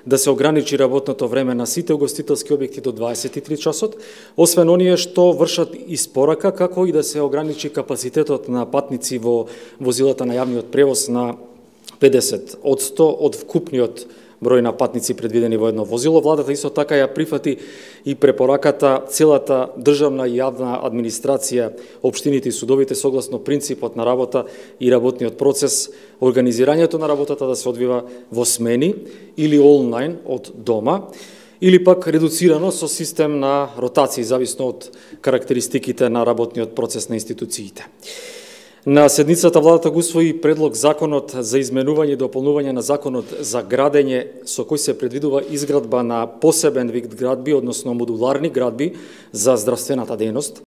да се ограничи работното време на сите угостителски објекти до 23 часот, освен оние што вршат испорака, како и да се ограничи капацитетот на патници во возилата на јавниот превоз на 50% од вкупниот број на патници предвидени во едно возило. Владата исто така ја прифати и препораката целата државна и јавна администрација, општините и судовите согласно принципот на работа и работниот процес, организирањето на работата да се одвива во смени или онлайн од дома, или пак редуцирано со систем на ротации, зависно од карактеристиките на работниот процес на институциите. На седницата владата го усвои предлог законот за изменување и дополнување на законот за градење, со кој се предвидува изградба на посебен вид градби, односно модуларни градби за здравствената дејност.